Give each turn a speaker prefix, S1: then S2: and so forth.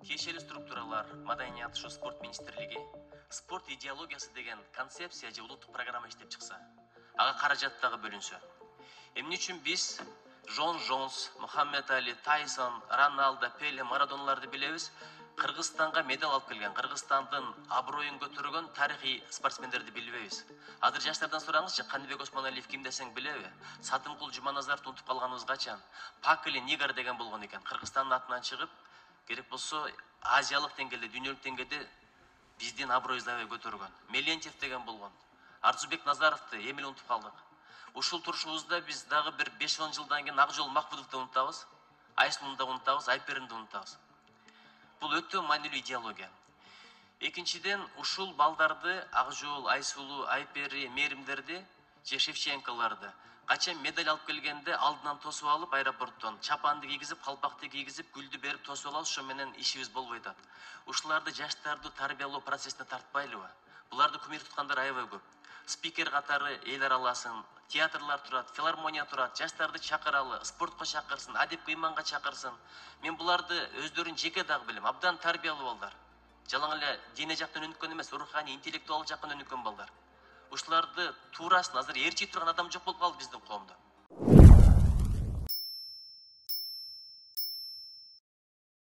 S1: тиешелүү структуралар, маданият ушу спорт министрлиги спорт идеологиясы деген концепция же улуттук программа иштеп чыкса, ага каражат дагы бөлүнсө. Эмне үчүн биз Жон Жонс, Мухаммед Али, Тайсон, Роналдо, Пеле, Марадоналарды билебиз, Кыргызстанга медаль алып келген, Кыргызстандын аброюн көтөргөн тарыхый спортсмендерди билбейбиз. Азыр жаштардан сураңызчы, Каныбек Осмоналиев ким десең билеби? Сатымкул Жуманазаровду унутуп калганыбыз качан? Пакли Нигар деген болгон экен. Кыргызстандын атынан чыгып, керек болсо азиялык деңгээлде, дүйнөлүк деңгээлде биздин аброюбузду аябай көтөргөн. Мелентьев деген болгон. Арзубек Назаровду эми эле унутуп калдык. Ушул турушубузда биз дагы бир 5-10 жылдан кийин Акжол Махмудовду унутабыз, Айсулуну да унутабыз, Айперинди унутабыз. Бул өтө маанилүү идеология. Экинчиден, ушул балдарды, Акжол, Айсулу, Айпери, Мээримдерди же Шевченколорду качан медаль алып келгенде алдынан тосуп алып аэропорттон чапанды кийгизип, калпакты кийгизип, гүлдү берип тосуп алабыз, ошо менен ишибиз болбой атат. Ушуларды жаштарды тарбиялоо процессине тартпайлыбы? Буларды кумир туткандар аябай көп. Спикер катары эл араласын, театрлар турат, филармония турат, жаштарды чакыралы, спортко чакырсын, адепке, ыйманга чакырсын. Мен буларды өздөрүн жеке дагы билем, абдан тарбиялуу балдар. Жалаң эле дене жактан өнүккөн эмес, руханий, интеллектуал жактан өнүккөн балдар. Ушуларды туурасын, азыр ээрчий турган адам жок болуп калды биздин коомдо.